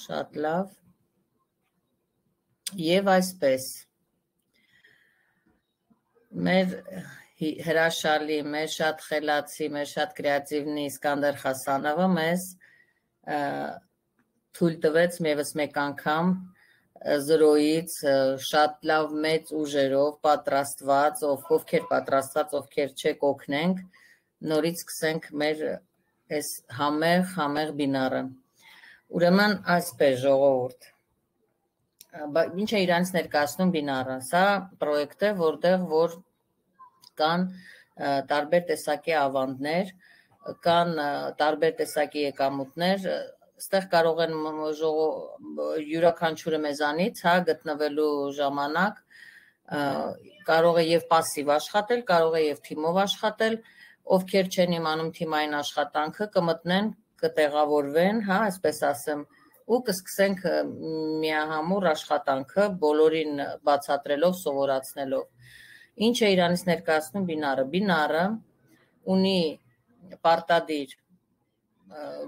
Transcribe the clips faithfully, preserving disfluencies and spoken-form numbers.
Շատ լավ։ Եվ այսպես։ Մեր հրաշալի, մեր շատ խելացի, մեր շատ կրեատիվնի Իսկանդար Խասանովը մեզ թույլ տվեց մեևս մեկ անգամ զրոյից շատ լավ մեծ ուժերով պատրաստված, ովքեր պատրաստված, ովքեր չեք օգնենք, նորից սկսենք մեր այս համեղ, համեղ բինարը։ Ուրեմն այսպես ժողովուրդ։ Ինչ է իրանից ներկայացնում բինարը։ Սա պրոյեկտ է, որտեղ որ կան տարբեր տեսակի ավանդներ, կան տարբեր տեսակի եկամուտներ, ստեղ կարող են յուրաքանչյուրը մեզանից, հա, գտնվելու ժամանակ կարող է եւ пассив աշխատել, կարող է եւ թիմով աշխատել, ովքեր չեն իմանում թիմային աշխատանքը, կմտնեն, կտեղավորվեն, հա, այսպես ասեմ, ու կսկսենք միահամուռ աշխատանքը բոլորին բացատրելով, սովորացնելով։ Ինչ է իրանից ներկայացնում բինարը։ Բինարը ունի պարտադիր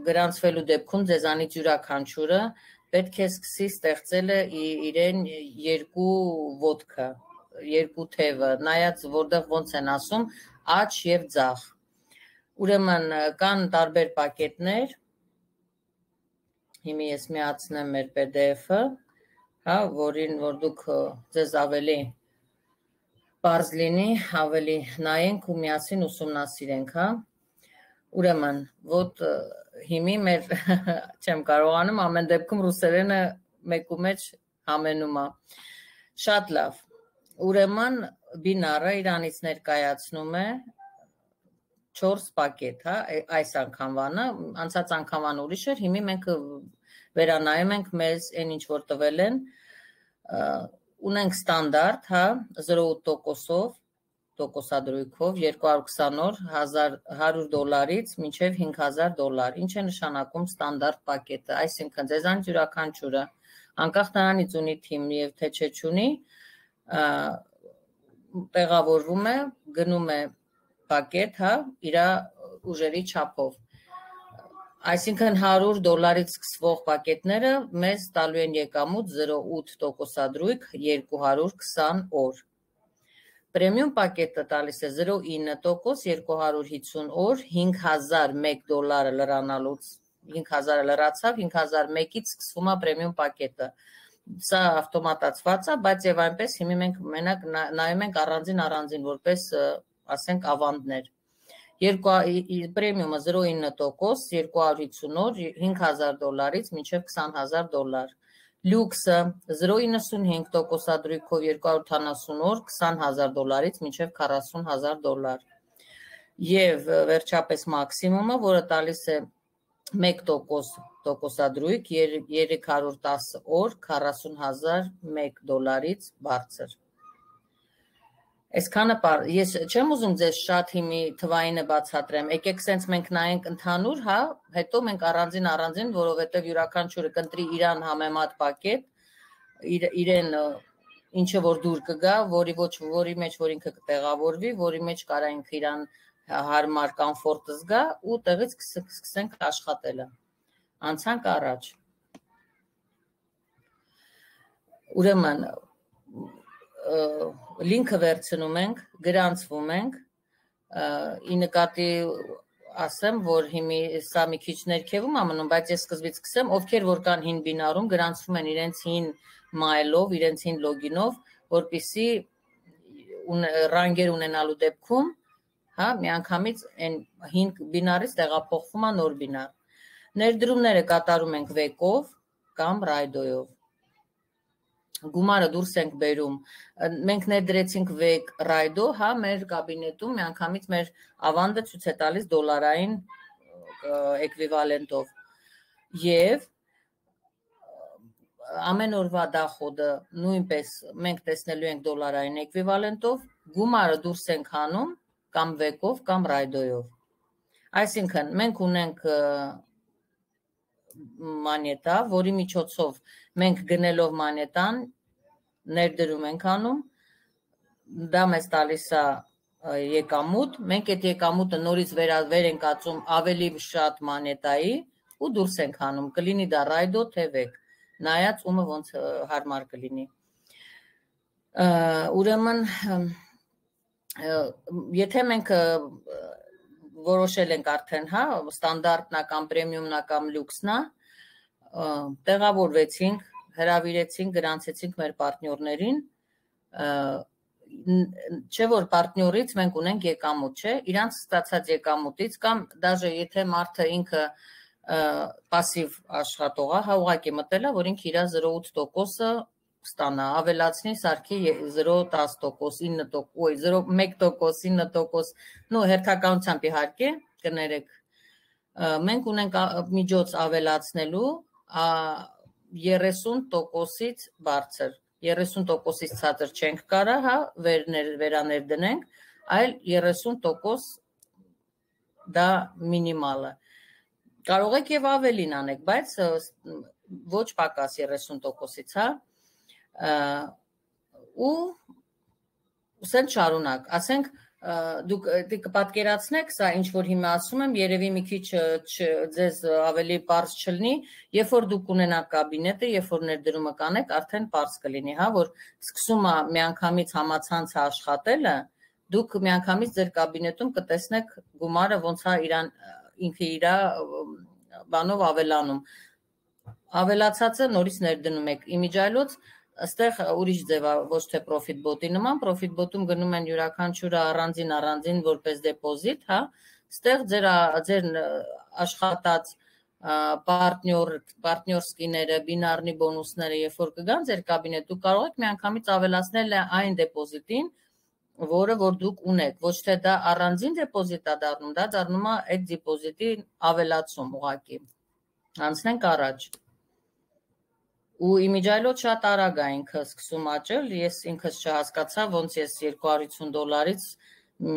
գրանցվելու դեպքում ձեզանից յուրաքանչյուրը պետք է սկսի ստեղծել իրեն երկու ոտքը, երկու թևը, նայած որտեղ ոնց են ասում, աջ եւ ձախ։ Ուրեմն կան տարբեր պակետներ, հիմա ես միացնեմ մեր P D F-ը, հա, որին որ դուք ձեզ ավելի պարզ լինի, ավելի նայենք ու միասին ուսումնասիրենք, հա։ Ուրեմն, ոտ հիմի մեր չեմ կարողանում, ամեն դեպքում ռուսերենը մեկու մեջ համենում է։ Շատ լավ։ Ուրեմն բինարը իրանից ներկայացնում է չորս պակետ, հա, այս անգամվանը, անցած անգամվան ուրիշ էր, հիմի մենք վերանայում ենք մեզ այն ինչ որ տվել են, ունենք ստանդարտ, հա, զրո տոկոսով, տոկոսադրույքով, երկու հարյուր քսան օր, հարյուր դոլարից մինչև հինգ հազար դոլար, ինչ է նշանակում ստանդարտ պակետը, այսինքն ձեզանից յուրաքանչյուրը, անկախ նրանից ունի թիմ եւ թե չէ չունի, տեղավորվում է, գնում է պակետ, հա, իր ուժերի չափով։ Այսինքն հարյուր դոլարից սկսվող պակետները մեզ տալու են եկամուտ զրո ութ տոկոսադրույք երկու հարյուր քսան օր։ Պրեմիում պակետը տալիս է զրո ինը տոկոս երկու հարյուր հիսուն օր, հինգ հազար մեկ դոլարը լրանալուց, հինգ հազարը լրացավ, հինգ հազար մեկից սկսվում է պրեմիում պակետը։ Սա ավտոմատացված է, բայց եւ այնպես հիմա մենք մենակ նայում ենք առանձին առանձին որպես ասենք ավանդներ։ Պրեմիումը զրո ինը տոկոս, երկու հարյուր հիսուն օր, հինգ հազար դոլարից մինչև քսան հազար դոլար։ Լյուքսը զրո իննսունհինգ տոկոսադրույքով երկու հարյուր ութանասուն օր, քսան հազար դոլարից մինչև քառասուն հազար դոլար։ Եվ վերջապես մաքսիմումը, որը տալիս է մեկ տոկոս տոկոսադրույք, երեք հարյուր տասը օր, քառասուն հազար մեկ դոլարից բարձր։ Այսքանը ես չեմ ուզում ձեզ շատ հիմի թվայինը բացատրեմ, եկեք սենց մենք նայենք ընդհանուր, հա, հետո մենք առանձին առանձին, որովհետև յուրաքանչյուրը կընտրի իրան համեմատ պակետ, իրեն ինչը որ դուր կգա, որի ոչ որի մեջ որ ինքը կտեղավորվի, որի մեջ կարա ինքը իրան հարմար կոմֆորտ զգա ու տեղից սկսենք աշխատելը։ Անցանք առաջ։ Ուրեմն լինքը վերցնում ենք, գրանցվում ենք, ի նկատի ասեմ, որ հիմի սա մի քիչ ներքևում է մնում, բայց ես սկզբից սկսեմ, ովքեր որ կան հին բինարում, գրանցվում են իրենց հին մայլով, իրենց հին լոգինով, որպեսզի ռանգեր ունենալու դեպքում, հա, միանգամից այն հին բինարից տեղափոխվում է նոր բինար։ Ներդրումները կատարում ենք վեկով կամ ռայդոյով։ Գումարը դուրս ենք բերում, մենք ներդրեցինք վեկ ռայդո, հա, մեր կաբինետում միանգամից մեր ավանդը ցույց է տալիս դոլարային էկվիվալենտով եւ ամեն օրվա դախոդը նույնպես մենք տեսնելու ենք դոլարային էկվիվալենտով, գումարը դուրս ենք հանում կամ վեկով կամ ռայդոյով։ Այսինքն մենք ունենք մանետա, որի միջոցով մենք գնելով մանետան ներդրում ենք անում, դա մեզ տալիս է եկամուտ, մենք այդ եկամուտը նորից վեր ենք ածում ավելի շատ մանետայի ու դուրս ենք հանում, կլինի դա ռայդո թե վեկ։ նայած ումը ոնց հարմար կլինի։ Ուրեմն եթե մենք որոշել ենք արդեն, հա, ստանդարտնա կամ պրեմիումնա կամ լյուքսնա, տեղավորվեցինք, հրավիրեցինք, գրանցեցինք մեր պարտնյորներին, չէ որ պարտնյորից մենք ունենք եկամուտ, չէ, իրանց ստացած եկամուտից կամ դաժե եթե մարդը ինքը պասիվ աշխատող է, հա ուղղակի մտել է, որ ինքը իր զրո ութ տոկոսը ստանա, ավելացնի սարքի զրո տասը տոկոս, ինը տոկոս, ոյ, զրո մեկ տոկոս, ինը տոկոս, նո հերթականությամբ իհարկե, կներեք, մենք ունենք միջոց ավելացնելու երեսուն տոկոսից բարձր, երեսուն տոկոսից ցածր չենք կարա, հա, վերաներ դնենք, այլ երեսուն տոկոս դա մինիմալը։ Կարող եք եւ ավելին անեք, բայց ոչ պակաս երեսուն տոկոսից, հա, ու սենց շարունակ, ասենք, դուք կպատկերացնեք, սա ինչ որ հիմա ասում եմ, երևի մի քիչ ձեզ ավելի պարզ չլինի, երբ որ դուք ունենաք կաբինետը, երբ որ ներդրումը կանեք, արդեն պարզ կլինի, հա, որ սկսում է միանգամից համացանցը աշխատելը, դուք միանգամից ձեր կաբինետում կտեսնեք գումարը ոնց է իրան ինքը իր բանով ավելանում։ Ավելացածը նորից ներդնում եք իմիջայլոց, Այստեղ ուրիշ ձև է, ոչ թե Profit Bot-ի նման, Profit Bot-ում գնում են յուրաքանչյուրը առանձին առանձին որպես դեպոզիտ, հա, այստեղ ձեր ձեր աշխատած պարտնյոր պարտնյորսկիները, բինարնի բոնուսները, երբ որ կգան ձեր կաբինետ, դուք կարող եք միանգամից ավելացնել այն դեպոզիտին, որը որ դուք ունեք, ոչ թե դա առանձին դեպոզիտ է դառնում, դա դառնում է այդ դեպոզիտի ավելացում ուղղակի։ Անցնենք առաջ։ Ու իմիջայլոց շատ արագ է ինքը սկսում աճել, ես ինքս չհասկացա, ոնց ես երկու հարյուր ութ դոլարից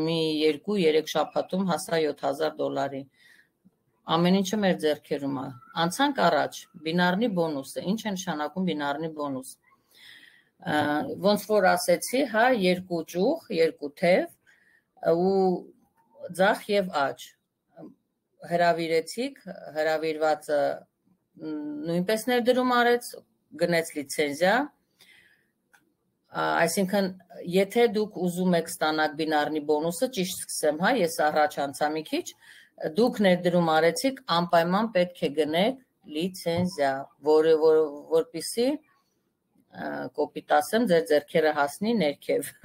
մի երկու երեք շաբաթում հասա յոթ հազար դոլարի։ Ամեն ինչը մեր ձեռքերում է։ Անցանք առաջ, բինարնի բոնուսը, ինչ է նշանակում բինարնի բոնուս։ Ոնց որ ասեցի, հա, երկու ճյուղ, երկու թև ու ձախ եւ աջ։ Հրավիրեցիք, հրավիրվածը նույնպես ներդրում արեց, գնեց լիցենզիա, այսինքն եթե դուք ուզում եք ստանալ բինարնի բոնուսը, ճիշտ սկսեմ, հա, ես առաջ անցա մի քիչ, դուք ներդրում արեցիք, անպայման պետք է գնեք լիցենզիա, որը որպեսզի կոպիտ ասեմ, ձեր ձեռքերը հասնի ներքև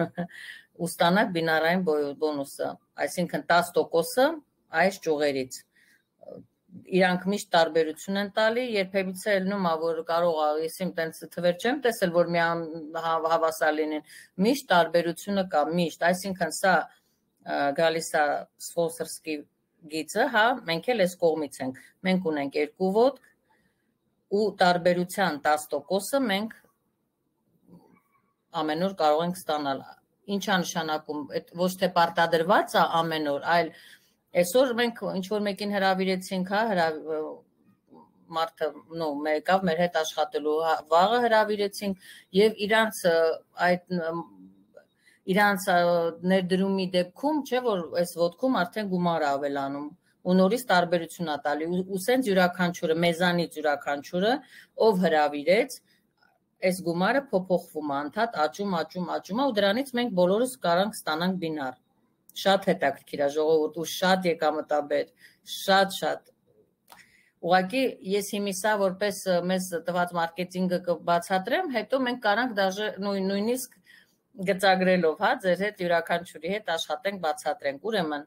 ու ստանաք բինարային բոնուսը, այսինքն տասը տոկոսը այս ճյուղերից։ Իրանք միշտ տարբերություն են տալի, երբևիցե ելնում է, որ կարող է, ես իմ տենց թվեր չեմ տեսել, որ մի հավասար լինեն, միշտ տարբերությունը կա, միշտ, այսինքն սա գալիս է սպոնսորսկի գիծը, հա, մենք էլ այս կողմից ենք, մենք ունենք երկու ոտք ու տարբերության տասը տոկոսը մենք ամեն օր կարող ենք ստանալ, ինչ է նշանակում, ոչ թե պարտադրված է ամեն օր, այլ այսօր մենք ինչ-որ մեկին հրավիրեցինք, հա, մարդը մեկավ մեր հետ աշխատելու, վաղը հրավիրեցինք և իրանց այդ իրանց ներդրումի դեպքում, չէ, որ այս ոտքում արդեն գումար ավելանում ու նորից տարբերություն է տալի ու սենց յուրաքանչյուրը, մեզանից յուրաքանչյուրը, ով հրավիրեց, այս գումարը փոփոխվում է, անդադ աճում, աճում, աճում է ու դրանից մենք բոլորս կարանք ստանանք բինար։ Շատ հետաքրքիր է ժողովուրդ ու շատ եկամտաբեր, շատ-շատ։ Ուղղակի ես հիմիսա որպես մեզ տված մարքեթինգը կբացատրեմ, հետո մենք կարանք դաժե նույնիսկ գծագրելով, հա, ձեր հետ յուրաքանչյուրի հետ աշխատենք, բացատրենք։ Ուրեմն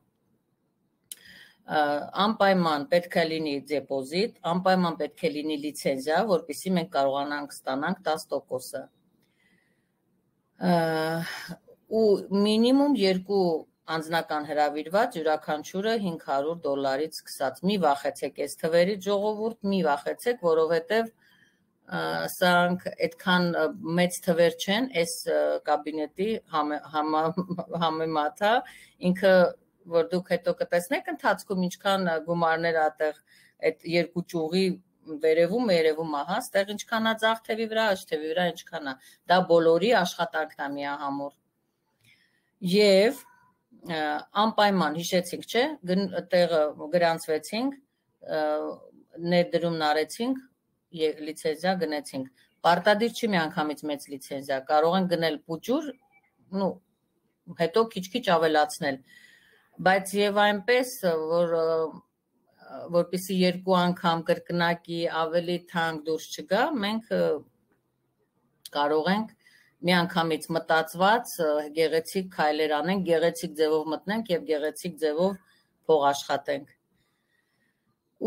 անպայման պետք է լինի դեպոզիտ, անպայման պետք է լինի լիցենզիա, որպեսզի մենք կարողանանք ստանանք տասը տոկոսը։ Ու մինիմում երկու անձնական հրավիրված յուրաքանչյուրը հինգ հարյուր դոլարից սկսած։ Մի վախեցեք այս թվերից ժողովուրդ, մի վախեցեք, որովհետև սրանք այդքան մեծ թվեր չեն, այս կաբինետի համեմատ, ինքը որ դուք հետո կտեսնեք ընթացքում ինչքան գումարներ ատեղ այդ երկու ճյուղի վերևում երևում է, հա, ստեղ ինչքան է ձախ թևի վրա, աջ թևի վրա ինչքան է, դա բոլորի աշխատանքն է միահամուռ։ Եվ անպայման հիշեցինք, չէ, տեղը գրանցվեցինք, ներդրումն արեցինք, լիցենզիա գնեցինք։ Պարտադիր չի միանգամից մեծ լիցենզիա, կարող են գնել փուճուր, նու հետո քիչ-քիչ ավելացնել։ Բայց եւ այնպես, որ որպեսզի երկու անգամ կրկնակի ավելի թանկ դուրս չգա, մենք կարող ենք միանգամից մտածված գեղեցիկ քայլեր անենք, գեղեցիկ ձևով մտնենք եւ գեղեցիկ ձևով փող աշխատենք։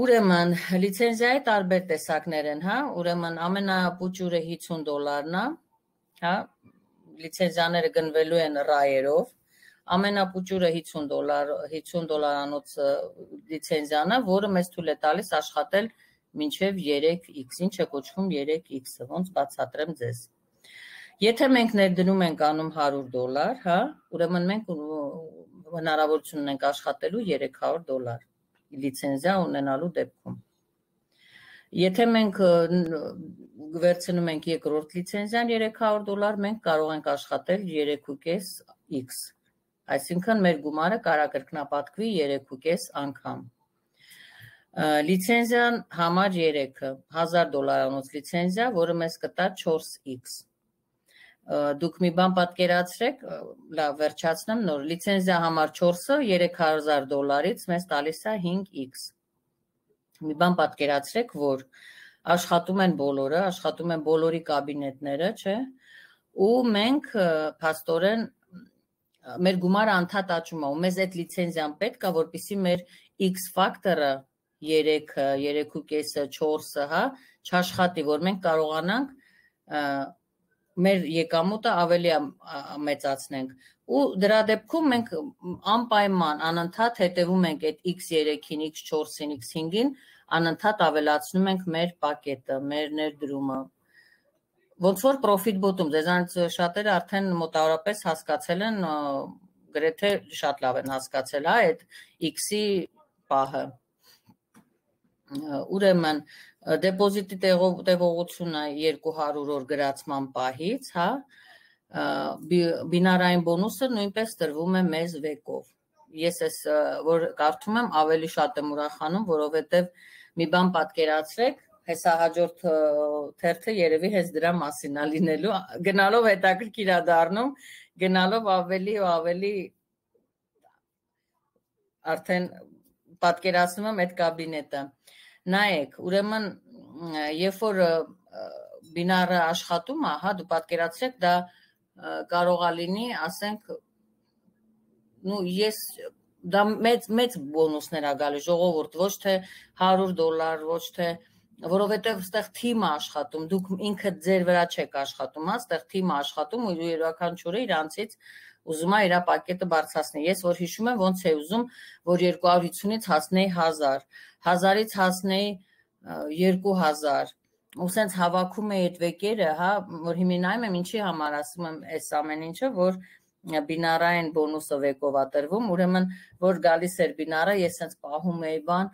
Ուրեմն լիցենզիայի տարբեր տեսակներ են, հա, ուրեմն ամենապուճուրը հիսուն դոլարն է, հա, լիցենզիաները գնվելու են ռայերով, ամենապուճուրը հիսուն դոլար, հիսուն դոլարանոց լիցենզիան է, որը մեզ թույլ է տալիս աշխատել մինչև երեք X, ինչը կոչվում երեք X-ը, ոնց բացատրեմ ձեզ։ Եթե մենք ներդնում ենք անում հարյուր դոլար, հա, ուրեմն մենք հնարավորություն ունենք աշխատելու երեք հարյուր դոլար լիցենզիա ունենալու դեպքում։ Եթե մենք վերցնում ենք երկրորդ լիցենզիան երեք հարյուր դոլար, մենք կարող ենք աշխատել երեք ու կես X, այսինքն մեր գումարը կարա կրկնապատկվի երեք ու կես անգամ։ Լիցենզիան համար երեքը, հազար դոլարանոց լիցենզիա, որը մեզ կտա չորս X։ Դուք մի բան պատկերացրեք, լավ վերջացնեմ նոր, լիցենզիա համար չորսը երեք հազար դոլարից մեզ տալիս է հինգ X։ Մի բան պատկերացրեք, որ աշխատում են բոլորը, աշխատում են բոլորի կաբինետները, չէ, ու մենք փաստորեն մեր գումարը անդադ աճում է, ու մեզ այդ լիցենզիան պետք է, որպեսզի մեր X ֆակտորը երեքը, երեք ու կեսը, չորսը, հա, չաշխատի, որ մենք կարողանանք մեր եկամուտը ավելի մեծացնենք։ Ու դրա դեպքում մենք անպայման անընդհատ հետևում ենք այդ X երեքին, X չորսին, X հինգին, անընդհատ ավելացնում ենք մեր պակետը, մեր ներդրումը։ Ոնց որ Profit Bot-ում, ձեզանից շատերը արդեն մոտավորապես հասկացել են, գրեթե շատ լավ են հասկացել, հա, այդ X-ի պահը։ Ուրեմն դեպոզիտի տևողությունը երկու հարյուր օր գրացման պահից, հա, բինարային բոնուսը նույնպես տրվում է մեզ վեկով։ Ես ես որ կարդում եմ ավելի շատ եմ ուրախանում, որովհետև մի բան պատկերացրեք, հեսա հաջորդ թերթը երևի հենց դրա մասին է լինելու, գնալով հետաքրքիր է դառնում, գնալով ավելի ու ավելի արդեն պատկերացնում եմ այդ կաբինետը։ Նայեք, ուրեմն երբ որ բինարը աշխատում է, հա, դու պատկերացրեք, դա կարող է լինի, ասենք, նու ես դա մեծ մեծ բոնուսներ է գալիս ժողովուրդ, ոչ թե հարյուր դոլար, ոչ թե որովհետև այստեղ թիմը աշխատում, դուք ինքդ ձեր վրա չեք աշխատում, հա, այստեղ թիմը աշխատում ու յուրաքանչյուրը իրանցից ուզում է իր պակետը բարձրացնել։ Ես որ հիշում եմ, ոնց է ուզում, որ երկու հարյուր հիսունից հասնեի հազար, հազարից հասնեի երկու հազար, ու սենց հավաքում էի այդ վեկերը, հա, որ հիմի նայում եմ ինչի համար ասում եմ այս ամեն ինչը, որ բինարային բոնուսը վեկով է տրվում, ուրեմն որ գալիս էր բինարը, ես սենց պահում էի բան,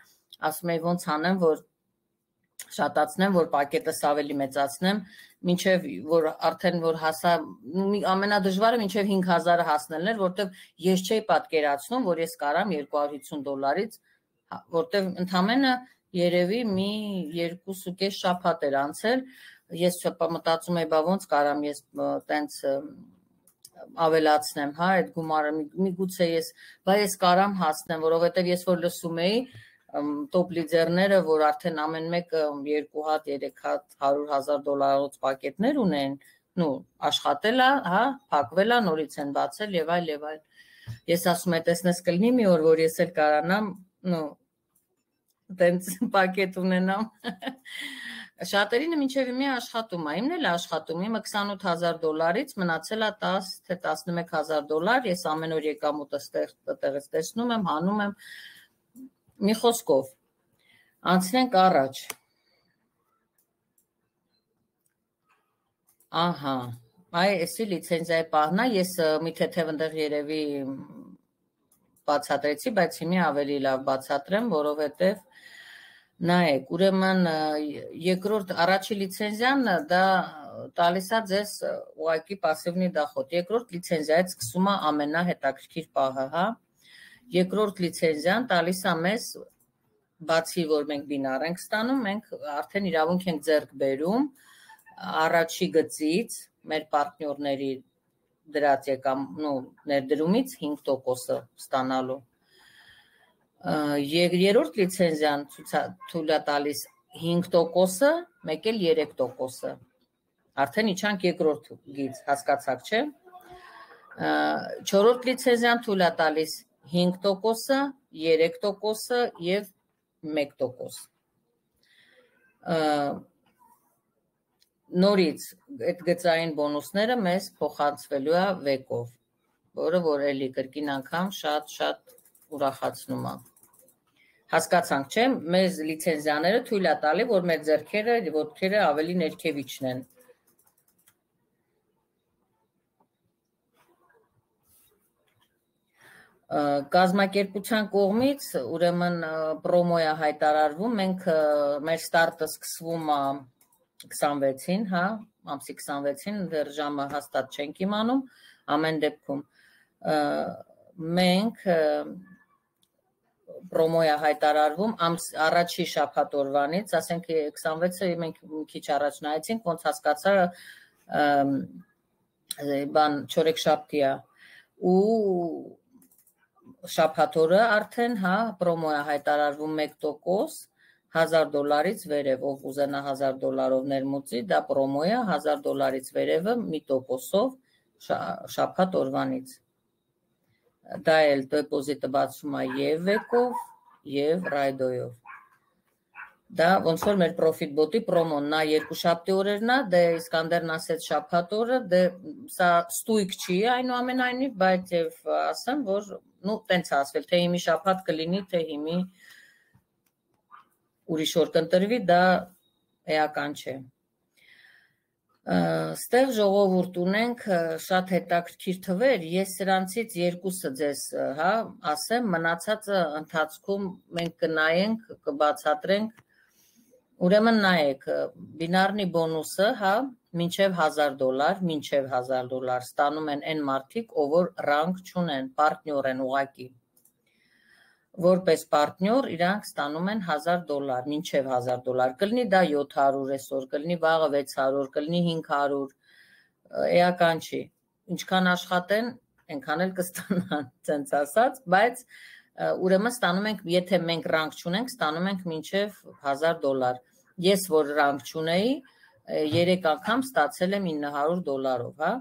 ասում էի ոնց անեմ, որ շատացնեմ, որ պակետս ավելի մեծացնեմ, մինչև որ արդեն որ հասա, ամենադժվարը մինչև հինգ հազարը հասնելն էր, որտեվ ես չէի պատկերացնում, որ ես կարամ երկու հարյուր հիսուն դոլարից, որտեվ ընդամենը երևի մի երկուս ու կես շաբաթ էր անցել, ես մտածում էի, բա ոնց կարամ ես տենց ավելացնեմ, հա, այդ գումարը, միգուցե ես, բա ես կարամ հասնեմ, որովհետև ես որ լսում էի տոպ լիդերները, որ արդեն ամեն մեկը երկու հատ, երեք հատ, հարյուր հազար դոլարոց պակետներ ունեն, նու աշխատել է, հա, փակվել է, նորից են բացել եւ այլ եւ այլ։ Ես ասում եմ, տեսնես կլինի մի օր, որ ես էլ կարանամ, նու տենց պակետ ունենամ։ Շատերինը մինչև իմի աշխատում է, իմն էլ աշխատում, իմը քսանութ հազար դոլարից մնացել է տաս թե տասնմեկ հազար դոլար, ես ամեն օր եկամուտը տեղից տեսնում եմ, հանում եմ, մի խոսքով, անցնենք առաջ։ Ահա, այ էսի լիցենզիայի պահն է, ես մի թեթև ընդեղ երևի բացատրեցի, բայց հիմի ավելի լավ բացատրեմ, որովհետև նայեք, ուրեմն երկրորդ առաջի լիցենզիան դա տալիս է ձեզ ուղղակի պասիվնի դախոդ, երկրորդ լիցենզիայից սկսում է ամենահետաքրքիր պահը, հա, երկրորդ լիցենզիան տալիս է մեզ բացի որ մենք բինար ենք ստանում, մենք արդեն իրավունք ենք ձեռք բերում առաջի գծից մեր պարտներների դրած եկամ, նո ներդրումից հինգ տոկոսը ստանալու։ Երրորդ լիցենզիան թույլ է տալիս հինգ տոկոսը, մեկ էլ երեք տոկոսը։ Արդեն իջանք երկրորդ գիծ, հասկացաք, չէ՞։ Չորրորդ լիցենզիան թույլ է տալիս հինգ տոկոսը, երեք տոկոսը եւ մեկ տոկոս։ Նորից այդ գծային բոնուսները մեզ փոխանցվելու է վեկով, որը որ էլի կրկին անգամ շատ-շատ ուրախացնում է։ Հասկացանք, չէ՞, մեզ լիցենզիաները թույլ է տալի, որ մեր ձեռքերը, ոտքերը ավելի ներքև իջնեն։ Կազմակերպության կողմից ուրեմն պրոմոյ է հայտարարվում, մենք մեր ստարտը սկսվում է քսանվեցին, հա, ամսի քսանվեցին, դեռ ժամը հաստատ չենք իմանում, ամեն դեպքում մենք պրոմոյ է հայտարարվում առաջի շաբաթ օրվանից, ասենք քսանվեցը մենք մի քիչ առաջ նայեցինք, ոնց հասկացա բան չորեքշաբթի է ու շաբաթ օրը արդեն, հա, պրոմոյ է հայտարարվում մեկ տոկոս հազար դոլարից վերև, ով ուզենա հազար դոլարով ներմուծի, դա պրոմոյ է հազար դոլարից վերևը մի տոկոսով շաբաթ օրվանից։ Դա էլ դեպոզիտը բացվում է եւ վեկով, եւ ռայդոյով։ Դա ոնց որ մեր Profit Bot-ի պրոմոն, նա երկուշաբթի օրերն է, դե Իսկանդերն ասեց շաբաթ օրը, դե սա ստույգ չի այնուամենայնիվ, բայց եւ ասեմ, որ նու տենց ասվել, թե հիմի շաբաթ կլինի, թե հիմի ուրիշ օր կընտրվի, դա էական չէ։ Ստեղ ժողովուրդ ունենք շատ հետաքրքիր թվեր, ես սրանցից երկուսը ձեզ, հա, ասեմ, մնացածը ընթացքում մենք կնայենք, կբացատրենք։ Ուրեմն նայեք, բինարնի բոնուսը, հա, մինչև հազար դոլար, մինչև հազար դոլար ստանում են այն մարդիկ, ով որ ռանգ չունեն, պարտներ են ուղակի։ Որպես պարտներ իրանք ստանում են հազար դոլար, մինչև հազար դոլար, կլինի դա յոթ հարյուր այսօր, կլինի վաղը վեց հարյուր, կլինի հինգ հարյուր, էական չի, ինչքան աշխատեն, այնքան էլ կստանան, ցենց ասած, բայց ուրեմն ստանում ենք, եթե մենք ռանգ չունենք, ստանում ենք մինչև հազար դոլար։ Ես որ ռանգ չունեի, երեք անգամ ստացել եմ ինը հարյուր դոլարով, հա։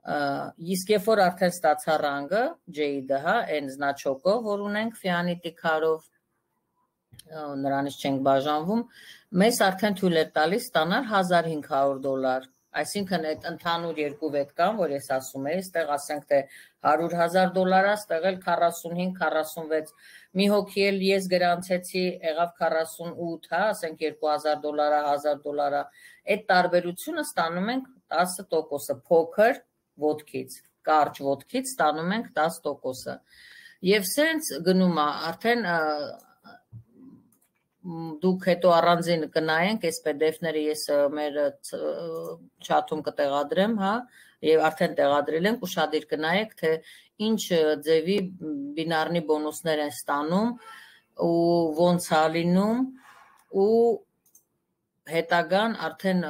Իսկ երբ որ արդեն ստացա ռանգը, ջեյդը, հա, այն զնաչոկով, որ ունենք Ֆիանիտի քարով, նրանից չենք բաժանվում, մեզ արդեն թույլ է տալիս ստանալ հազար հինգ հարյուր դոլար։ Այսինքն այդ ընդհանուր երկու վետ կան, որ ես ասում եի, ստեղ ասենք թե հարյուր հազար դոլար է, ստեղ էլ քառասունհինգ քառասունվեց։ Մի հոգի էլ ես գրանցեցի, եղավ քառասունութ, հա, ասենք երկու հազար դոլարա, հազար դոլարա։ Այդ տարբերությունը ստանում ենք տասը տոկոսը, փոքր ոտքից, կարճ ոտքից ստանում ենք տասը տոկոսը։ Եվ սենց գնում է, արդեն դուք հետո առանձին կնայենք, այս պի դի էֆ-ները ես մեր չաթում կտեղադրեմ, հա, եւ արդեն տեղադրել ենք, ուշադիր կնայեք, թե ինչ ձևի բինարնի բոնուսներ են ստանում ու ոնց է լինում ու հետագան արդեն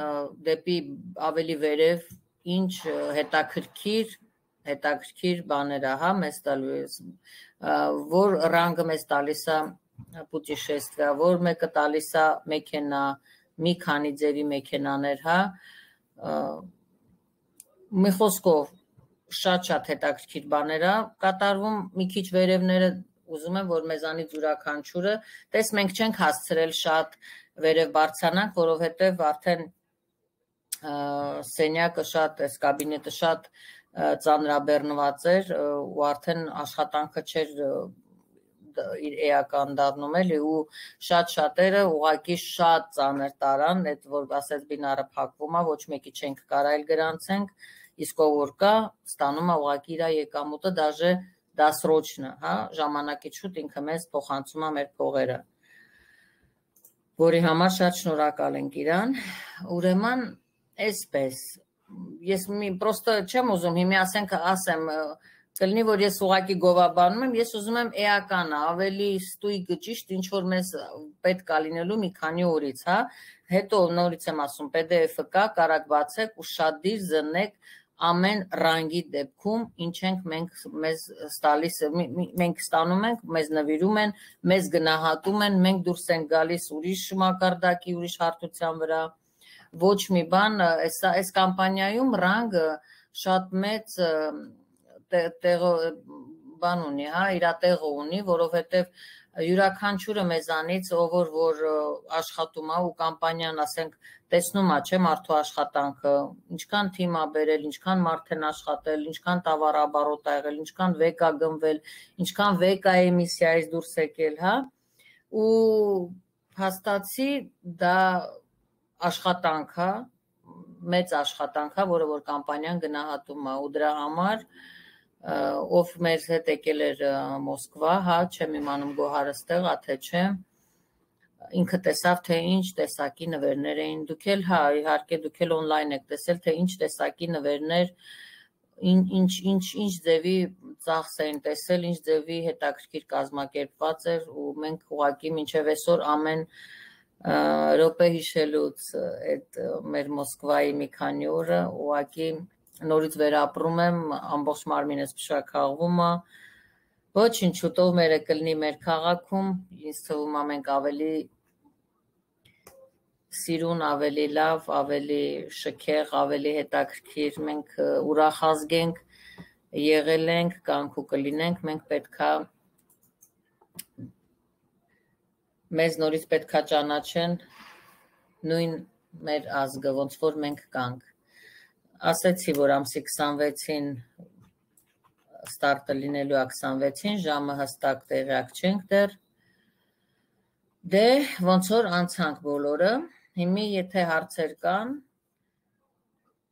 դեպի ավելի վերև ինչ հետաքրքիր հետաքրքիր բաներ է, հա, մեզ տալիս, որ ռանգը մեզ տալիս է պուտիշեստվիա, որ մեկը տալիս է մեքենա, մի քանի ձևի մեքենաներ, հա, մի խոսքով շատ-շատ հետաքրքիր բաներ է կատարվում, մի քիչ վերևները ուզում եմ, որ մեզանից յուրաքանչյուրը, տես մենք չենք հասցրել շատ վերև բարձրանանք, որովհետև արդեն սենյակը շատ, այս կաբինետը շատ ծանրաբեռնված էր ու արդեն աշխատանքը չէր իր էական դառնում էլի ու շատ շատերը ուղղակի շատ ծանր տարան, այդ որ ասես բինարը փակվում է, ոչ մեկի չենք կարայել գրանցենք, իսկ ով որ կա, ստանում է ուղղակի իր եկամուտը, դաժե դասրոչնը, հա, ժամանակից շուտ ինքը մեզ փոխանցում է մեր փողերը, որի համար շատ շնորհակալ ենք իրան, ուրեմն այսպես, ես մի պրոստը չեմ ուզում, հիմի ասենք ասեմ, կլինի, որ ես ուղղակի գովաբանում եմ, ես ուզում եմ էականը, ավելի ստույգ ճիշտ ինչ որ մեզ պետք է լինելու մի քանի օրից, հա, հետո նորից եմ ասում, P D F-ը կա, կարակ բացեք ու շատ դիր զննեք ամեն ռանգի դեպքում, ինչ ենք մենք մեզ ստալիս, մենք ստանում ենք, մեզ նվիրում են, մեզ գնահատում են, մենք դուրս ենք գալիս ուրիշ մակարդակի, ուրիշ հարթության վրա, ոչ մի բան, այս կամպանիայում ռանգը շատ մեծ բան ունի, հա, իր տեղը ունի, որովհետև յուրաքանչյուրը մեզանից, ով որ աշխատում է ու կամպանիան, ասենք, տեսնում է, չէ, մարդու աշխատանքը, ինչքան թիմ է բերել, ինչքան մարդ են աշխատել, ինչքան տավարաբարոտ ա եղել, ինչքան վեկ ա գնվել, ինչքան վեկ ա էմիսիայից դուրս եկել, հա, ու փաստացի դա աշխատանք է, մեծ աշխատանք է, որը որ կամպանիան գնահատում է ու դրա համար ով մեր հետ եկել էր Մոսկվա, հա, չեմ իմանում Գոհարը ստեղ ա, թե չէ, ինքը տեսավ, թե ինչ տեսակի նվերներ էին, դուք էլ, հա, իհարկե դուք էլ օնլայն եք տեսել, թե ինչ տեսակի նվերներ, ինչ, ինչ, ինչ ձևի ծախս էին տեսել, ինչ ձևի հետաքրքիր կազմակերպված էր ու մենք ուղղակի մինչև այսօր ամեն րոպե հիշելուց այդ մեր Մոսկվայի մի քանի օրը ուղղակի նորից վերապրում եմ, ամբողջ մարմինս փշաքաղվում է, ոչինչ շուտով մերը կլինի մեր քաղաքում, ինձ թվում է մենք ավելի սիրուն, ավելի լավ, ավելի շքեղ, ավելի հետաքրքիր, մենք ուրախ ազգ ենք, եղել ենք, կանք ու կլինենք, մենք պետքա մեզ նորից պետքա ճանաչեն նույն մեր ազգը, ոնց որ մենք կանք։ Ասեցի, որ ամսի քսանվեցին ստարտը լինելու է քսանվեցին, ժամը հստակ տեղյակ չենք դեռ։ Դե ոնց որ անցանք բոլորը, հիմի եթե հարցեր կան,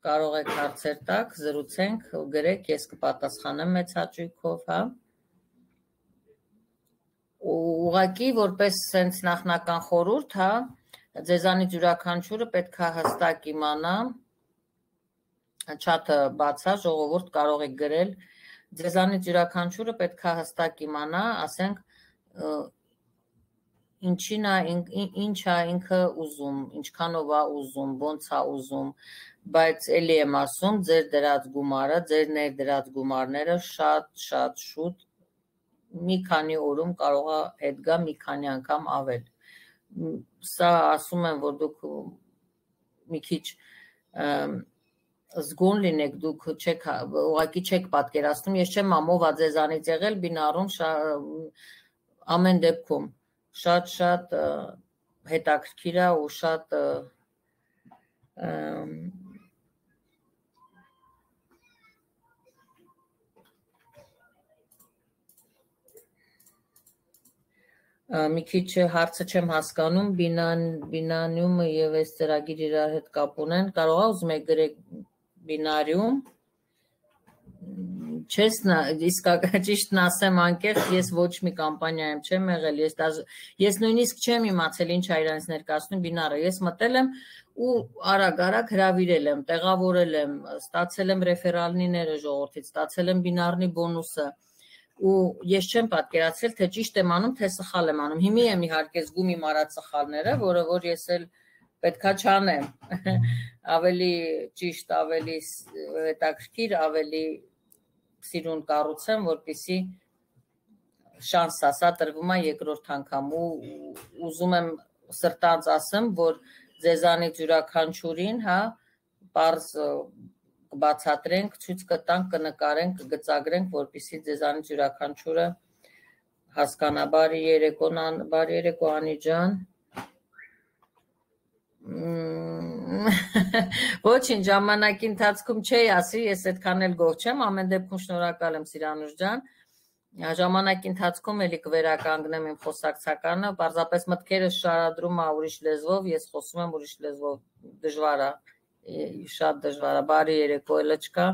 կարող եք հարցեր տակ, զրուցենք, գրեք, ես կպատասխանեմ մեծ հաճույքով, հա։ Ուղղակի որպես սենց նախնական խորհուրդ, հա, ձեզանից յուրաքանչյուրը պետք է հստակ իմանա, չաթը բացա, ժողովուրդ կարող եք գրել, ձեզանից յուրաքանչյուրը պետք է հստակ իմանա, ասենք, ինչին է, ինչ է ինքը ուզում, ինչքանով է ուզում, ոնց է ուզում, բայց էլի եմ ասում, ձեր դրած գումարը, ձեր ներդրած գումարները շատ, շատ շուտ մի քանի օրում կարող է հետ գա մի քանի անգամ ավել։ Սա ասում եմ, որ դուք մի քիչ զգոն լինեք, դուք չեք, ուղղակի չեք պատկերացնում, ես չեմ ամով ա ձեզանից եղել, բինարում ամեն դեպքում շատ-շատ հետաքրքիր է ու շատ մի քիչ հարցը չեմ հասկանում, բինանիումը և այս ծրագիր իրար հետ կապ ունեն, կարող է ուզում եք գրեք բինարիում, չես ճիշտն ասեմ անկեղծ, ես ոչ մի կամպանիայում չեմ եղել, ես նույնիսկ չեմ իմացել ինչ է իրանց ներկայացնում բինարը, ես մտել եմ ու արագ-արագ հրավիրել եմ, տեղավորել եմ, ստացել եմ ռեֆերալները ժողովրդից, ստացել եմ բինարնի բոնուսը ու ես չեմ պատկերացրել, թե ճիշտ եմ անում, թե սխալ եմ անում, հիմի եմ իհարկե զգում իմ արած սխալները, որը որ ես էլ պետքա չանեմ, ավելի ճիշտ, ավելի հետաքրքիր, ավելի սիրուն կառուցեմ, որպեսզի շանս ասա տրվում է երկրորդ անգամ ու ուզում եմ սրտանց ասեմ, որ ձեզանից յուրաքանչյուրին, հա, պարզ կբացատրենք, ցույց կտանք, կնկարենք, կգծագրենք, որպեսզի ձեզանից յուրաքանչյուրը հասկանա։ Բարի երեկո, բարի երեկո Անի ջան։ Ոչինչ, ժամանակի ընթացքում չէի ասի, ես այդքան էլ գոհ չեմ, ամեն դեպքում շնորհակալ եմ Սիրանուշ ջան, ժամանակի ընթացքում էլի կվերականգնեմ իմ խոսակցականը, պարզապես մտքերս շարադրում ա ուրիշ լեզվով, ես խոսում եմ ուրիշ լեզվով, դժվար ա, շատ դժվար ա, բարի երեկո էլը չկա,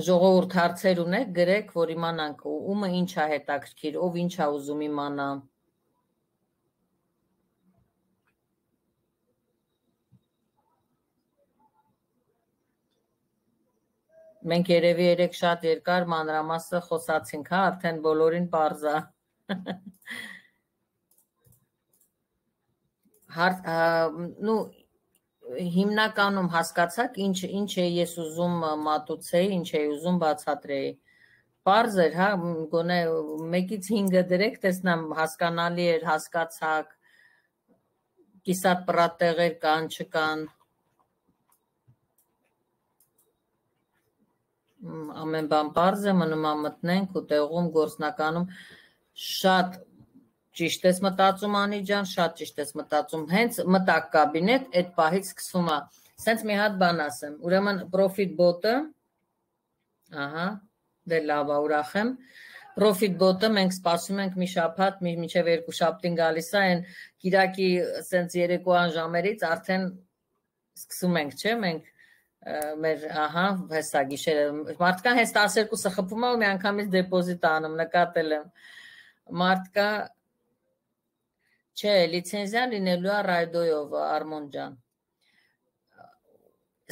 ժողովուրդ հարցեր ունեք, գրեք, որ իմանանք, ումը ինչ ա հետաքրքիր, ով ինչ ա ուզում իմանա։ Մենք երևի երեք շատ երկար մանրամասը խոսացինք, հա, արդեն բոլորին պարզ է։ Նու հիմնականում հասկացաք ինչ ինչ է ես ուզում մատուցեի, ինչ է ուզում բացատրեի։ Պարզ էր, հա, գոնե մեկից հինգը դրեք, տեսնամ հասկանալի էր, հասկացաք, կիսատ պրատեղեր կան, չկան։ Ամեն բան պարզ է, մնում մտնենք ու տեղում գործնականում շատ ճիշտ ես մտածում Անի ջան, շատ ճիշտ ես մտածում, հենց մտակ կաբինետ, այդ պահից սկսում է, սենց մի հատ բան ասեմ, ուրեմն Profit Bot-ը, ահա, դե լավ է, ուրախ եմ, Profit Bot-ը մենք սպասում ենք մի շաբաթ, մինչև երկու շաբթին գալիս է, այն կիրակի սենց երեկոյան ժամերից արդեն սկսում ենք, չէ, մենք մեր, ահա, հեսա գիշերը, մարդկան հենց տասներկուսը խփում է ու մի անգամից դեպոզիտ անում, նկատել եմ, մարդկա Չէ, լիցենզիա լինելու է ռայդոյով, Արմոն ջան։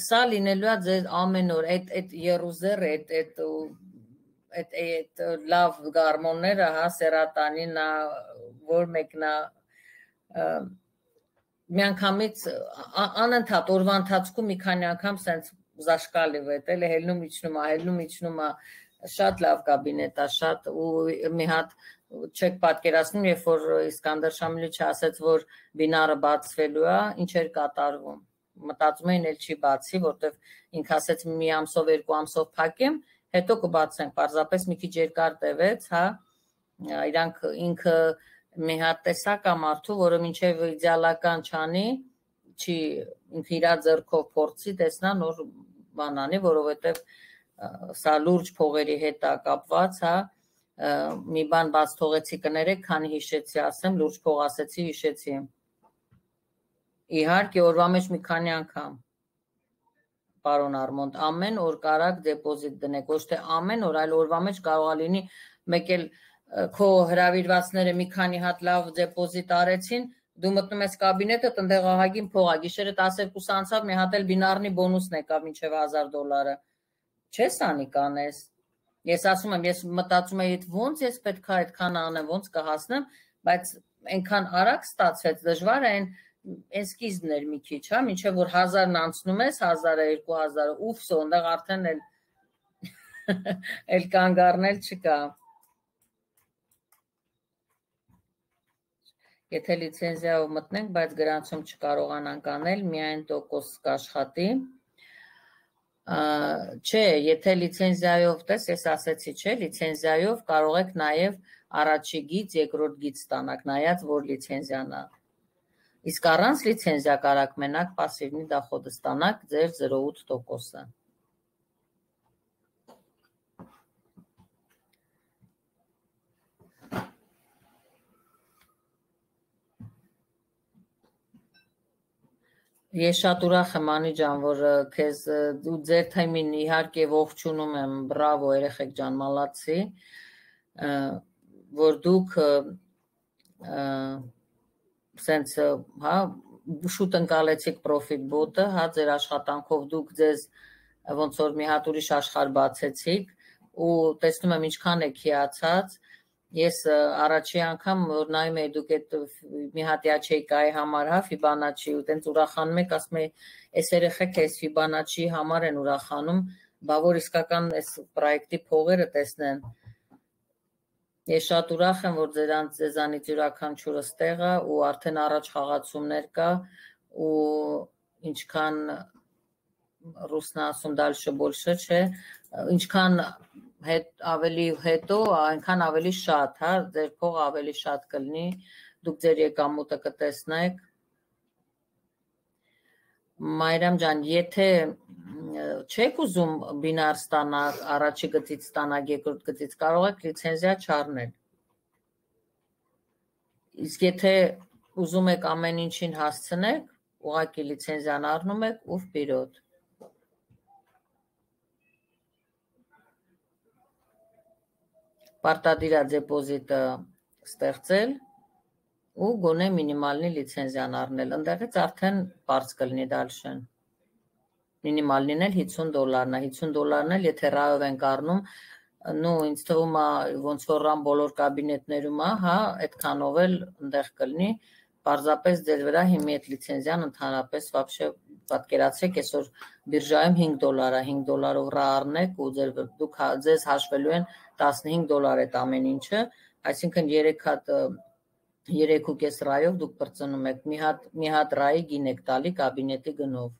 Սա լինելու է ձեր ամեն օր, այդ երուզերը, այդ լավ գարմոնները, հա, սերատանին, որ մեկնա, մի անգամից, անընդհատ օրվա ընթացքում մի քանի անգամ սենց զաշկալիվ է, էլ հելնում իջնում է, հելնում իջնում է, շատ լավ կաբինետ է, շատ ու մի հատ չեք պատկերացնում, երբ որ Իսկանդար Շամիլիչը ասաց, որ բինարը բացվելու է, ինչ էր կատարվում։ Մտածում էին էլ չի բացի, որտեվ ինքը ասաց մի ամսով, երկու ամսով փակեմ, հետո կբացենք, պարզապես մի քիչ երկար տևեց, հա, իրանք ինքը մի հատ տեսակ է մարդու, որը մինչև իդեալական չանի, չի ինքը իր ձեռքով փորձի, տեսնա նոր բան անի, որովհետև սա լուրջ փողերի հետ է կապված, հա, մի բան բաց թողեցի կներեք, քանի հիշեցի ասեմ, լուրջ փող ասեցի, հիշեցի։ Իհարկե օրվա մեջ մի քանի անգամ, պարոն Արմոնդ, ամեն օր կարակ դեպոզիտ դնեք, ոչ թե ամեն օր, այլ օրվա մեջ կարող է լինի, մեկ էլ քո հրավիրվածները մի քանի հատ լավ դեպոզիտ արեցին, դու մտնում ես կաբինետը, տնտեղ ահագին փող է, գիշերը տասներկուս անցավ, մի հատ էլ բինարնի բոնուսն եկավ մինչև հազար դոլարը, չես անի կանես։ Ես ասում եմ, ես մտածում եի, ոնց ես պետք է այդքան անեմ, ոնց կհասնեմ, բայց այնքան արագ ստացվեց, դժվար է այն սկիզբն էր մի քիչ, հա, մինչև որ հազարն անցնում ես, հազարը, երկու հազարը, ուֆս, այնտեղ արդեն էլ էլ կանգ առնել չկա։ Եթե լիցենզիայով մտնենք, բայց գրանցում չկարողանանք անել, միայն տոկոս կաշխատի։ Չէ, եթե լիցենզիայով տես, ես ասեցի, չէ, լիցենզիայով կարող եք նաև առաջի գիծ, երկրորդ գիծ ստանաք, նայած որ լիցենզիան է։ Իսկ առանց լիցենզիա կարաք մենակ պասիվնի դախոդը ստանաք ձեր զրո ութ տոկոսը։ Ես շատ ուրախ եմ Անի ջան, որ քեզ դու ձեր թեմին իհարկե ողջունում եմ, բրավո երեխեք ջան, մալացի, որ դուք սենց, հա, շուտ ընկալեցիք Profit Bot-ը, հա, ձեր աշխատանքով դուք ձեզ ոնց որ մի հատ ուրիշ աշխարհ բացեցիք ու տեսնում եմ ինչքան եք հիացած։ Ես առաջի անգամ որ նայում եի դուք այդ մի հատ յաչեյկայի համար, հա, Fibonacci ու տենց ուրախանում եք, ասում եի, այս երեխեք այս Fibonacci համար են ուրախանում, բա որ իսկական այս պրոյեկտի փողերը տեսնեն։ Ես շատ ուրախ եմ, որ ձերանց ձեզանից յուրաքանչյուրը ստեղ է ու արդեն առաջ խաղացումներ կա ու ինչքան ռուսնա ասում դալշը բոլշը չէ, ինչքան հետ ավելի հետո, այնքան ավելի շատ, հա, ձեր փողը ավելի շատ կլինի, դուք ձեր եկամուտը կտեսնեք։ Մայրամ ջան, եթե չեք ուզում բինար ստանալ, առաջի գծից ստանալ, երկրորդ գծից, կարող եք լիցենզիա չառնել։ Իսկ եթե ուզում եք ամեն ինչին հասցնեք, ուղղակի լիցենզիան առնում եք ու վպիրոտ։ Պարտադիր է դեպոզիտը ստեղծել ու գոնե մինիմալնի լիցենզիան առնել, ընդեղից արդեն բարձ կլինի դալշեն։ մինիմալ լինել հիսուն դոլարն է, հիսուն դոլարն էլ եթե ռայով ենք առնում, նու ինձ թվում է ոնց որ ռան բոլոր կաբինետներում է, հա, այդքանով էլ ընդեղ կլինի, պարզապես ձեր վրա հիմի այդ լիցենզիան ընդհանրապես вообще պատկերացրեք այսօր բիրժայում հինգ դոլար է, հինգ դոլարով ռա առնեք ու ձեր դուք ձեզ հաշվելու են տասնհինգ դոլար այդ ամեն ինչը, այսինքն երեք հատ երեք ու կես ռայով դուք բրծնում եք, մի հատ մի հատ ռայի գին եք տալի կաբինետի գնով։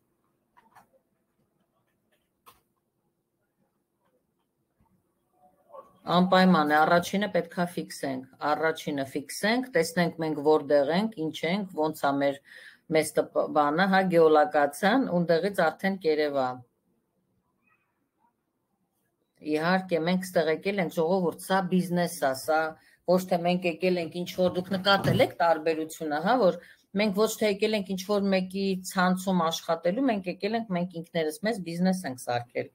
Անպայման է, առաջինը պետքա ֆիքսենք, առաջինը ֆիքսենք, տեսնենք մենք որտեղ ենք, ինչ ենք, ոնց է մեր մեծ բանը, հա, գեոլոկացիան, ունդեղից արդեն կերևա։ Իհարկե, մենք ստեղ եկել ենք ժողովուրդ, սա բիզնես է, սա ոչ թե մենք եկել ենք ինչ որ դուք նկատել եք տարբերությունը, հա, որ մենք ոչ թե եկել ենք ինչ որ մեկի ցանցում աշխատելու, մենք եկել ենք մենք ինքներս մեզ բիզնես ենք սարքել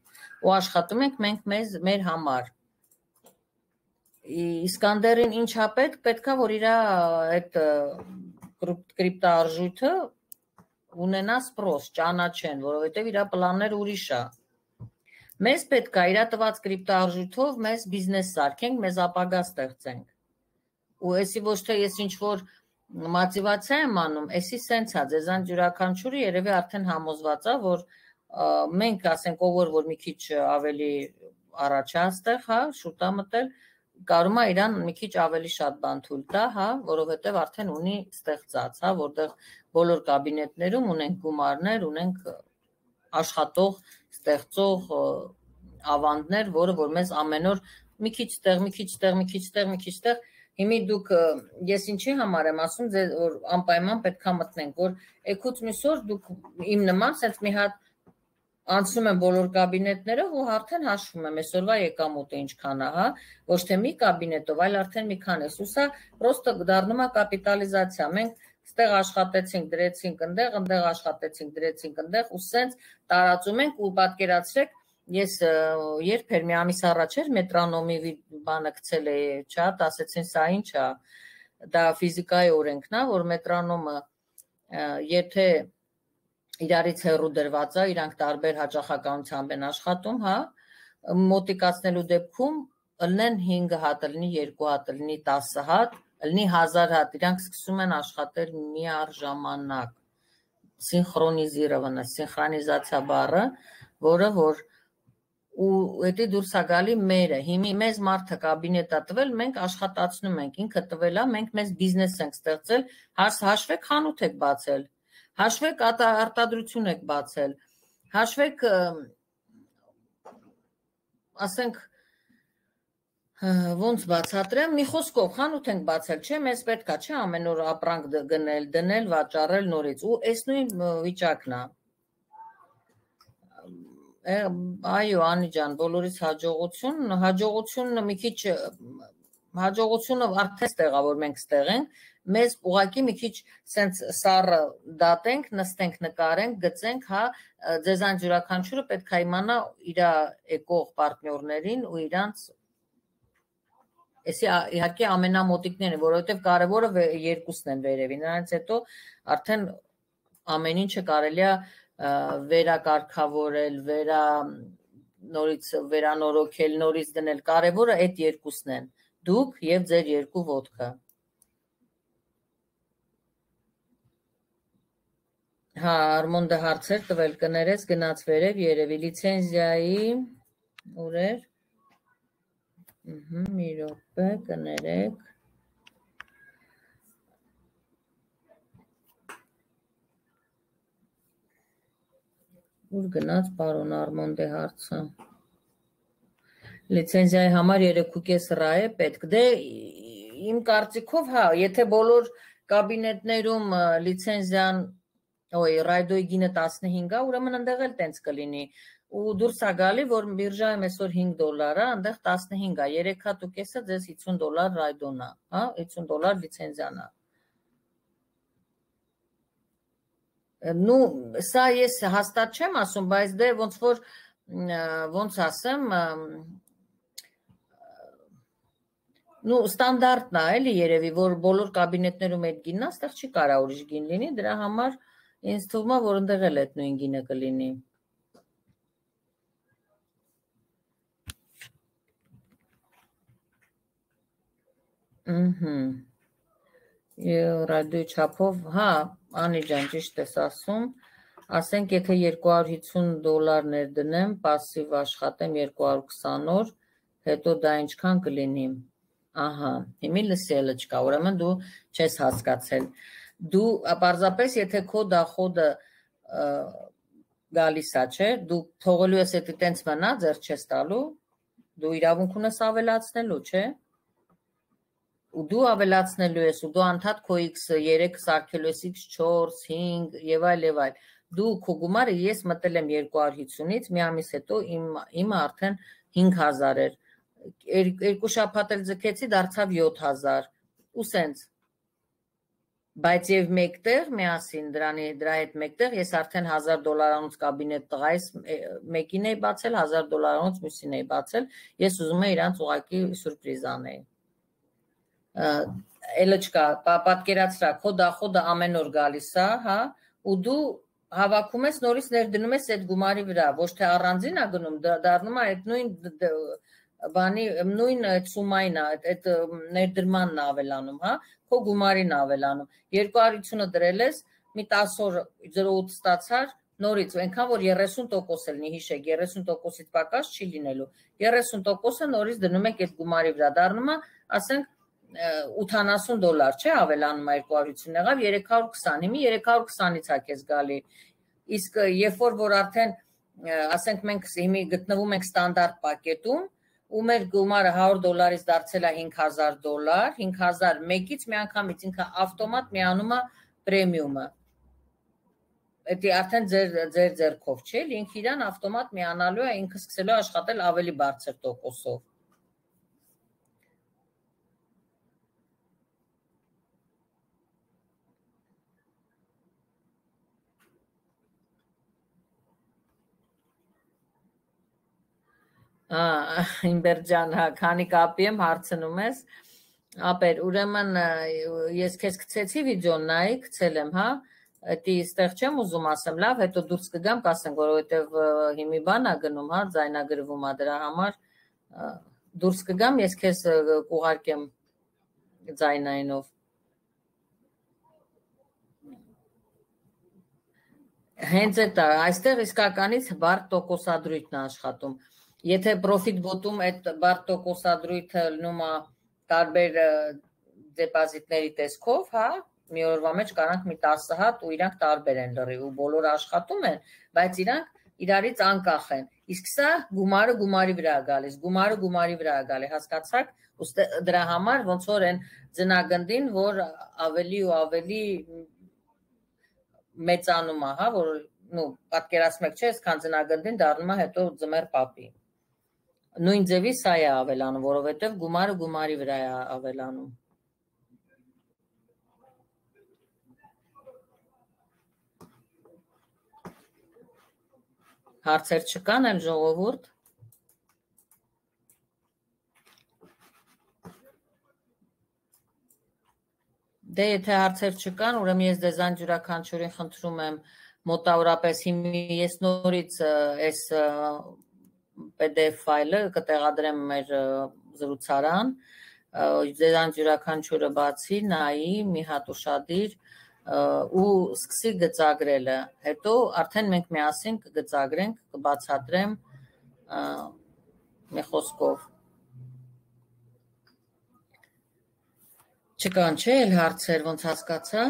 ու աշխատում ենք մենք մեզ մեր համար։ Իսկանդերին ինչա պետք, պետքա որ իր այդ կրիպտոարժույթը ունենա սպրոս, ճանաչեն, որովհետև իր պլանները ուրիշ է։ Մեզ պետք է իր տված կրիպտոարժույթով մեզ բիզնես սարքենք, մեզ ապագա ստեղծենք։ Ու էսի ոչ թե ես ինչ որ մոտիվացիա եմ անում, էսի սենց է, ձեզանց յուրաքանչյուրը երևի արդեն համոզված է, որ մենք ասենք ով որ մի քիչ ավելի առաջ է այստեղ, հա, շուտ է մտել, կարում է իրան մի քիչ ավելի շատ բան թույլ տա, հա, որովհետև արդեն ունի ստեղծած, հա, որտեղ բոլոր կաբինետներում ունենք գումարներ, ունենք աշխատող, ստեղծող ավանդներ, որը որ մեզ ամեն օր մի քիչ տեղ, մի քիչ տեղ, մի քիչ տեղ, մի քիչ տեղ, հիմի դուք ես ինչի համար եմ ասում, որ անպայման պետքա մտնենք, որ եկուց մյուս օր դուք իմ նման sense մի հատ անցնում եմ բոլոր կաբինետներով ու արդեն հաշվում եմ այսօրվա եկամուտը ինչքան է, հա, ոչ թե մի կաբինետով, այլ արդեն մի քան է, ու սա պրոստը դառնում է կապիտալիզացիա, մենք ստեղ աշխատեցինք, դրեցինք ընդեղ, ընդեղ աշխատեցինք, դրեցինք ընդեղ, ու սենց տարածում ենք ու պատկերացրեք, ես երբ էր մի ամիս առաջ էր մետրոնոմի բանը գցել է չատ, ասեցին սա ինչ է, դա ֆիզիկայի օրենքն է, որ մետրոնոմը եթե իրարից հեռու դրված է, իրանք տարբեր հաճախականությամբ են աշխատում, հա, մոտիկացնելու դեպքում ըլնեն հինգ հատ, ըլնի երկու հատ, ըլնի տասը հատ, ըլնի հազար հատ, իրանք սկսում են աշխատել միառժամանակ, սինխրոնիզիրованно, սինխրոնիզացիա բառը, որը որ ու էդի դուրս է գալի մերը, հիմի մեզ մարդը կաբինետ է տվել, մենք աշխատացնում ենք, ինքը տվել է, մենք մեզ բիզնես ենք ստեղծել, հաշվեք խանութ եք բացել, հաշվեք արտադրություն եք բացել, հաշվեք, ասենք, ոնց բացատրեմ, մի խոսքով խանութ ենք բացել, չէ, մեզ պետք է, չէ, ամեն օր ապրանք գնել, դնել, վաճառել նորից, ու այս նույն վիճակն է։ Այո, Անի ջան, բոլորից հաջողություն, հաջողությունը մի քիչ, հաջողությունը արդեն ստեղ է, որ մենք ստեղ ենք, մեզ ուղղակի մի քիչ սենց սառը դատենք, նստենք, նկարենք, գծենք, հա, ձեզանց յուրաքանչյուրը պետք է իմանա իր եկող պարտներներին ու իրանց, էսի իհարկե ամենամոտիկները, որովհետև կարևորը երկուսն են վերևի, նրանց հետո արդեն ամեն ինչը կարելի է վերակարգավորել, վերա նորից վերանորոգել, նորից դնել, կարևորը այդ երկուսն են, դուք և ձեր երկու ոտքը։ Հա, Արմոնդը հարցեր տվել կներես, գնաց վերև, երևի լիցենզիայի, ուր էր, մի րոպե, կներեք, ուր գնաց պարոն Արմոնդե հարցը, լիցենզիայի համար երեք ու կես ռա է պետք, դե իմ կարծիքով, հա, եթե բոլոր կաբինետներում լիցենզիան, ոյ, ռայդոյի գինը տասնհինգ է, ուրեմն ընդեղ էլ տենց կլինի, ու դուրս է գալի, որ բիրժայում այսօր հինգ դոլար է, ընդեղ տասնհինգ է, երեք հատ ու կեսը ձեզ հիսուն դոլար ռայդոն է, հա, հիսուն դոլար լիցենզիան է։ Նու, սա ես հաստատ չեմ ասում, բայց դե ոնց որ, ոնց ասեմ, նու ստանդարտն է, էլի երևի, որ բոլոր կաբինետներում այդ գինն է, ստեղ չի կարա ուրիշ գին լինի, դրա համար ինձ թվում է, որ ընդեղ էլ այդ նույն գինը կլինի։ Ահա։ Ռադիոյի չափով, հա, Անի ջան, ճիշտ ես ասում, ասենք եթե երկու հարյուր հիսուն դոլար ներդնեմ, пассив աշխատեմ երկու հարյուր քսան օր, հետո դա ինչքան կլինի։ Ահա, հիմի լսելը չկա, ուրեմն դու չես հասկացել։ Դու պարզապես եթե քո դախոդը գալիս է, չէ, դու թողելու ես եթե տենց մնա, ձեռ չես տալու, դու իրավունք ունես ավելացնելու, չէ։ Ու դու ավելացնելու ես, ու դու անդադ քո X երեք սարքելու ես X չորս, հինգ եւ այլ եւ այլ։ Դու քո գումարը ես մտել եմ երկու հարյուր հիսունից, մի ամիս հետո իմ իմը արդեն հինգ հազար էր։ Երկու շաբաթ էլ ձգեցի, դարձավ յոթ հազար։ Ու սենց։ Բայց եւ մեկտեղ միասին դրանի դրա հետ մեկտեղ ես արդեն հազար դոլարանոց կաբինետ տղայիս մեկին էի բացել, հազար դոլարանոց մյուսին էի բացել։ Ես ուզում եի իրանց ուղակի սուրպրիզ անել։ Էլը չկա, պատկերացրա, քո դախոդը ամեն օր գալիս է, հա, ու դու հավաքում ես նորից ներդնում ես այդ գումարի վրա, ոչ թե առանձին է գնում, դառնում է այդ նույն բանի, նույն այդ սումային է, այդ ներդրմանն է ավելանում, հա, քո գումարին ավելանում։ երկու հարյուր հիսունը դրել ես, մի տասը օր զրո ութ ստացար, նորից, այնքան որ երեսուն տոկոս էլ նի հիշեք, երեսուն տոկոսից պակաս չի լինելու, երեսուն տոկոսը նորից դնում եք այդ գումարի վրա, դառնում է, ասենք, ութանասուն դոլար, չէ, ավելանում է երկու հարյուր հիսուն եղավ, երեք հարյուր քսան, հիմի երեք հարյուր քսանից է քեզ գալի, իսկ երբ որ որ արդեն, ասենք մենք հիմի գտնվում ենք ստանդարտ պակետում, ու մեր գումարը հարյուր դոլարից դարձել է հինգ հազար դոլար, հինգ հազար մեկից միանգամից ինքը ավտոմատ միանում է պրեմիումը, Էդի արդեն ձեր ձեր ձեռքով չէ, ինքը իրան ավտոմատ միանալու է, ինքը սկսելու աշխատել ավելի բարձր տոկոսով։ Իմբերջան, հա, քանի կապի եմ հարցնում ես, ապեր, ուրեմն ես քեզ գցեցի վիդեոն նայի, գցել եմ, հա, Էդի ստեղ չեմ ուզում ասեմ, լավ, հետո դուրս կգամ, կասենք, որովհետև հիմի բան է գնում, հա, ձայնագրվում է դրա համար, դուրս կգամ, ես քեզ կուղարկեմ ձայնայինով։ Հենց այդ է, այստեղ իսկականից բարդ տոկոսադրույթն է աշխատում։ Եթե պրոֆիտ բոտում այդ բարդ տոկոսադրույթը լնում է տարբեր դեպոզիտների տեսքով, հա, մի օրվա մեջ կարանք մի տասը հատ ու իրանք տարբեր են լրի ու բոլորը աշխատում են, բայց իրանք իրարից անկախ են։ Իսկ սա գումարը գումարի վրա է գալիս, գումարը գումարի վրա է գալի, հասկացաք, դրա համար ոնց որ են ձնագնդին, որ ավելի ու ավելի մեծանում է, հա, որ նու պատկերացնում եք, չէ, այսքան ձնագնդին դառնում է հետո ձմեռ պապի։ Նույն ձևի սա է ավելանում, որովհետև գումարը գումարի վրա է ավելանում։ Հարցեր չկան էլ ժողովուրդ։ Դե եթե հարցեր չկան, ուրեմն ես դեզան յուրաքանչյուրին խնդրում եմ մոտավորապես հիմի ես նորից այս P D F ֆայլը կտեղադրեմ մեր զրուցարան, դեզան յուրաքանչյուրը բացի, նայի, մի հատ ուշադիր ու սկսի գծագրելը, հետո արդեն մենք միասին կգծագրենք, կբացատրեմ մի խոսքով։ Չկան չէ էլ հարցեր, ոնց հասկացա։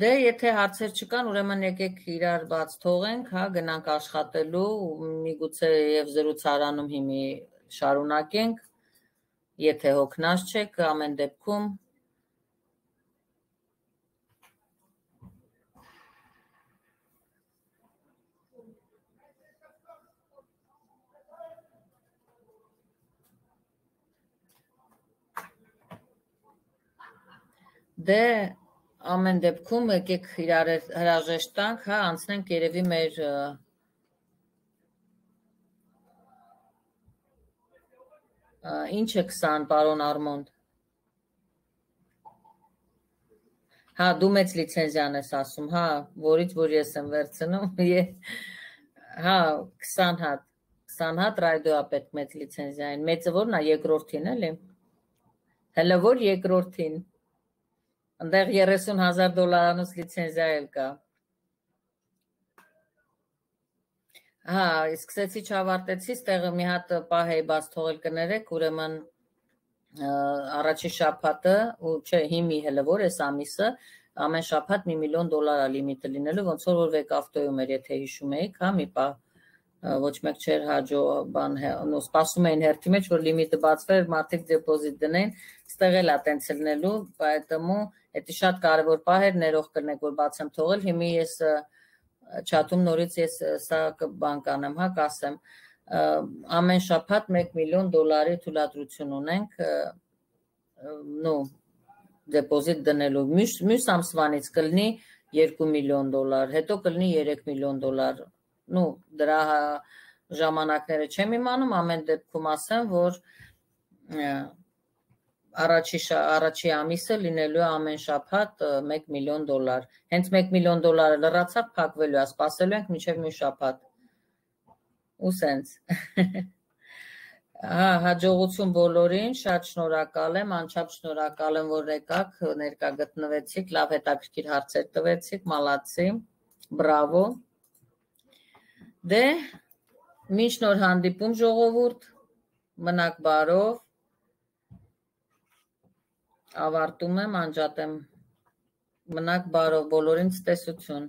Դե եթե հարցեր չկան, ուրեմն եկեք իրար բաց թողենք, հա, գնանք աշխատելու, միգուցե եւ զրուցարանում հիմի շարունակենք, եթե հոգնած չեք, ամեն դեպքում Դե ամեն դեպքում եկեք իրար հրաժեշտ տանք, հա, անցնենք երևի մեր ինչ է քսան, պարոն Արմոնդ։ Հա, դու մեծ լիցենզիան ես ասում, հա, որից որ ես եմ վերցնում, հա, քսան հատ, քսան հատ ռադիո պետք մեծ լիցենզիային, մեծը որն է երկրորդին էլի, հələ որ երկրորդին, ընդեղ երեսուն հազար դոլարանոց լիցենզիա էլ կա, հա, սկսեցի չավարտեցի, ստեղը մի հատ պահ էի բաց թողել կներեք, ուրեմն առաջի շաբաթը, ու չէ, հիմի հələ որ էս ամիսը, ամեն շաբաթ մի միլիոն դոլար է լիմիտը լինելու, ոնց որ որ վեկ ավտոյում էր, եթե հիշում էիք, հա, մի պահ ոչ մեկ չէր հաջո բան, նո սպասում էին հերթի մեջ, որ լիմիտը բացվեր, մարդիկ դեպոզիտ դնեն, ստեղ էլ է տենց լինելու, поэтому էդի շատ կարևոր պահ էր, ներող կրնեք, որ բաց եմ թողել, հիմի ես չաթում նորից ես սա բան կանեմ, հա, կասեմ, ամեն շաբաթ մեկ միլիոն դոլարի թույլատրություն ունենք, նո դեպոզիտ դնելու, մյուս ամսվանից կլինի երկու միլիոն դոլար, հետո կլինի երեք միլիոն դոլար, նո դրա ժամանակները չեմ իմանում, ամեն դեպքում ասեմ, որ առաջի ամիսը լինելու ամեն շաբաթ մեկ միլիոն դոլար, հենց մեկ միլիոն դոլարը լրացավ փակվելու է, սպասելու ենք մինչև մի շաբաթ, ու սենց, հաջողություն բոլորին, շատ շնորհակալ եմ, անչափ շնորհակալ եմ, որ եկաք, ներկա գտնվեցիք, լավ հետաքրքիր հարցեր տվեցիք, մալացի, բրավո, դե, մինչ նոր հանդիպում ժողովուրդ, մնաք բարով, ավարտում եմ, անջատեմ, մնաք բարով, բոլորին ցտեսություն։